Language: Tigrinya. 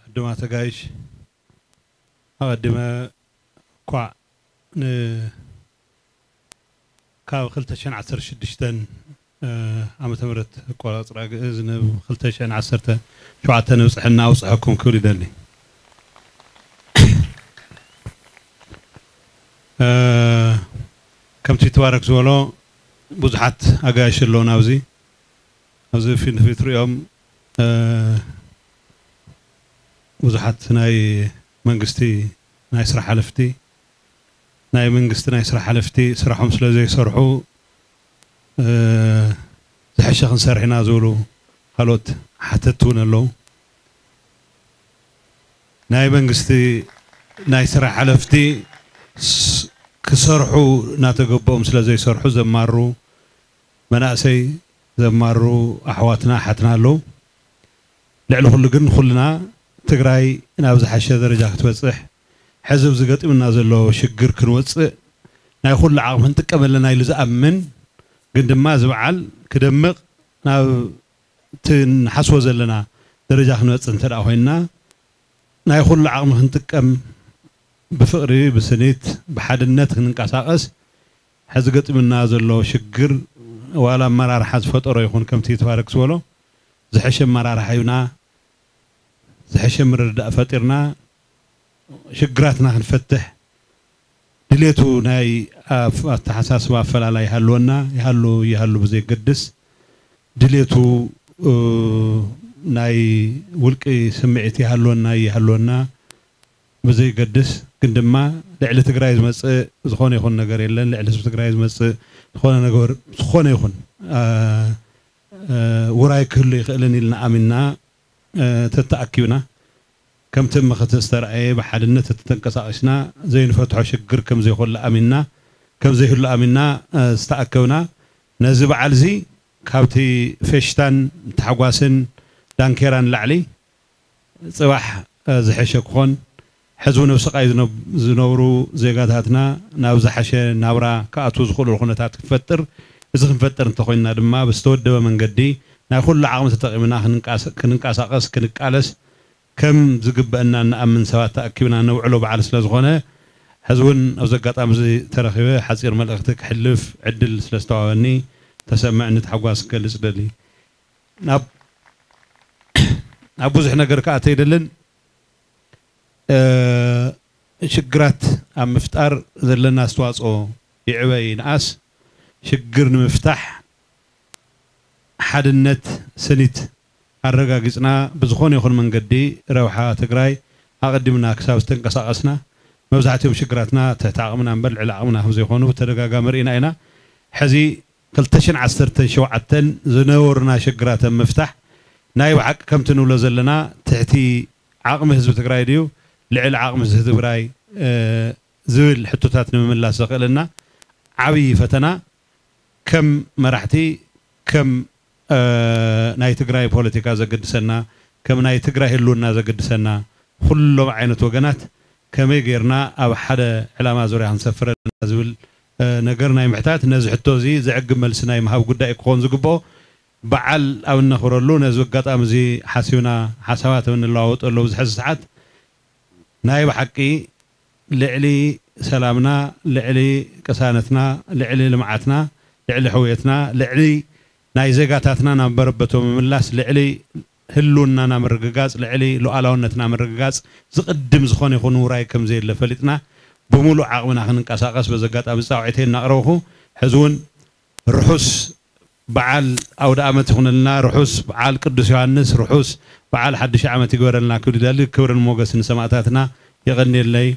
ዕዱማት ኣጋይሽ፣ ኣቐዲመ እኳዕ ን-፣ ካብ ክልተ ሽሕን ዓሰርተ ሽዱሽተን ዓመተ ምህረት ኣቆጻጽራ ግእዝ ናብ ክልተ ሽሕን ዓሰርተ ሸውዓተን ንብጽሐና ኣውጽሐኩም ክብል ይደሊ። ከምቲ ትባረክ ዝበሎ ብዙሓት ኣጋይሽ ኣለዉ ናብዚ ኣብዚ ፊት ንፊት ሪኦም ብዙሓት ናይ መንግስቲ ናይ ስራሕ ሓለፍቲ ናይ መንግስቲ ናይ ስራሕ ሓለፍቲ ስራሖም ስለ ዘይሰርሑ ዝሐሸ ክንሰርሕ ኢና ዝብሉ ካልኦት ሓተቲ እውን ኣለዉ። ናይ መንግስቲ ናይ ስራሕ ሓለፍቲ ክሰርሑ እናተገበኦም ስለ ዘይሰርሑ ዘማሩ መናእሰይ ዘማሩ ኣሕዋትና ሓትና ኣለዉ። ልዕሊ ኩሉ ግን ኩልና ትግራይ ናብ ዝሓሸ ደረጃ ክትበፅሕ ሕዚ ኣብዚ ገጢሙና ዘሎ ሽግር ክንወፅእ ናይ ኩሉ ዓቕሚ ክንጥቀም ኣለና ኢሉ ዝኣምን ግን ድማ እዚ በዓል ክደምቕ ናብ እቲ ንሓስቦ ዘለና ደረጃ ክንበፅሕ እንተ ደኣ ኮይንና ናይ ኩሉ ዓቕሚ ክንጥቀም ብፍቕሪ ብስኒት ብሓድነት ክንንቀሳቐስ ሕዚ ገጢሙና ዘሎ ሽግር ዋላ ኣመራርሓ ዝፈጠሮ ይኹን ከምቲ ተባረክ ዝበሎ ዝሐሸ ኣመራርሓ ሂብና ዝሐሸ ምርድዳእ ፈጢርና ሽግራትና ክንፈትሕ ድሌቱ ናይ ኣፍ-፣ ኣተሓሳስባ ኣፈላላይ ይሃልወና ይሃሉ ይሃሉ ብዘይገድስ ድሌቱ ናይ ውልቂ ስምዒት ይሃልወና ይሃልወና ብዘይገድስ ግን ድማ ልዕሊ ትግራይ ዝመፅእ ዝኾነ ይኹን ነገር የለን። ልዕሊ ህዝቢ ትግራይ ዝመፅእ ዝኾነ ነገር ዝኾነ ይኹን ውራይ ክህሉ ይኽእልን ኢልና ኣሚንና ተተኣኪብና ከምቲ ምኽቲ ዝተረኣየ ብሓድነት ተተንቀሳቒስና ዘይንፈትሖ ሽግር ከም ዘይኮለ ኣሚንና ከም ዘይህሉ ኣሚንና ዝተኣከብና ነዚ በዓል እዚ ካብቲ ፌሽታን ታሕጓስን ዳንኬራን ላዕሊ ፅባሕ ዝሐሸ ክኾን ሕዚ እውን ኣብ ስቓይ ዝነብ-፣ ዝነብሩ ዜጋታትና ናብ ዝሓሸ ናብራ ክኣትዉ ዝኽእሉ ኩነታት ክንፈጥር እዚ ክንፈጥር እንተኾይንና ድማ ብዝተወደበ መንገዲ ናይ ኩሉ ዓቕሚ ተጠቒምና ክንንቃስ-፣ ክንንቀሳቐስ ክንቃለስ ከም ዝግበአና እንኣምን ሰባት ተኣኪብና ነውዕሎ በዓል ስለ ዝኾነ ሕዚ እውን ኣብዚ ኣጋጣሚ እዚ ተረኺበ ሓፂር መልእኽቲ ክሕልፍ ዕድል ስለ ዝተዋበኒ ተሰምዕኒ ታሕጓስ ክገልፅ ደሊ ናብ ናብ ብዙሕ ነገር ክኣተ ኣይደልን ሽግራት ኣብ ምፍጣር ዘለና ኣስተዋፅኦ ይዕበ ይንኣስ ሽግር ንምፍታሕ ሓድነት ስኒት ኣረጋጊፅና ብዝኾነ ይኹን መንገዲ ረብሓ ትግራይ ኣቐዲምና ክሳብ ዝተንቀሳቐስና መብዛሕትኦም ሽግራትና ትሕቲ ዓቕምና እምበር ልዕሊ ዓቕምና ከም ዘይኮኑ ብተደጋጋሚ ርኢና ኢና ሕዚ ክልተ ሽሕን ዓሰርተ ሸውዓተን ዝነበሩና ሽግራት ኣብ ምፍታሕ ናይ ብሓቂ ከምቲ ንብሎ ዘለና ትሕቲ ዓቕሚ ህዝቢ ትግራይ ድዩ ልዕሊ ዓቕሚ ህዝቢ ትግራይ ዝብል ሕቶታት ንምምላስ ዘኽእለና ዓብዪ ፈተና ከም መራሕቲ ከም ናይ ትግራይ ፖለቲካ ዘገድሰና ከም ናይ ትግራይ ህልውና ዘገድሰና ኩሎም ዓይነት ወገናት ከመይ ጌርና ኣብ ሓደ ዕላማ ዙርያ ክንሰፍር ኣለና ዝብል ነገር ናይ ምሕታት ነዚ ሕቶ እዚ ዘዕግብ መልሲ ናይ ምሃብ ጉዳይ ክኾን ዝግብኦ በዓል ኣብ እነኽብረሉ ነዚ ኣጋጣሚ እዚ ሓሲብና ሓሳባት ኣብ እንለዋወጠሉ ኣብዚ ሕዚ ሰዓት ናይ ብሓቂ ልዕሊ ሰላምና ልዕሊ ቅሳነትና ልዕሊ ልምዓትና ልዕሊ ሕውየትና ልዕሊ ናይ ዜጋታትና ናብ መረበቶም ምምላስ ልዕሊ ህልውናና ምርግጋፅ ልዕሊ ሉዓላውነትና ምርግጋፅ ዝቕድም ዝኾነ ይኹን ውራይ ከም ዘየለ ፈሊጥና ብምሉእ ዓቕምና ክንንቀሳቐስ በዚ ኣጋጣሚ ፃውዒተይ እናቕረብኹ ሕዚ እውን ርሑስ በዓል ኣውደ ኣመት ይኹነልና ርሑስ በዓል ቅዱስ ዮሃንስ ርሑስ በዓል ሓድሽ ዓመት ይግበረልና ክብል ይደሊ ክብርን ሞገስን ንሰማእታትና የቐንየለይ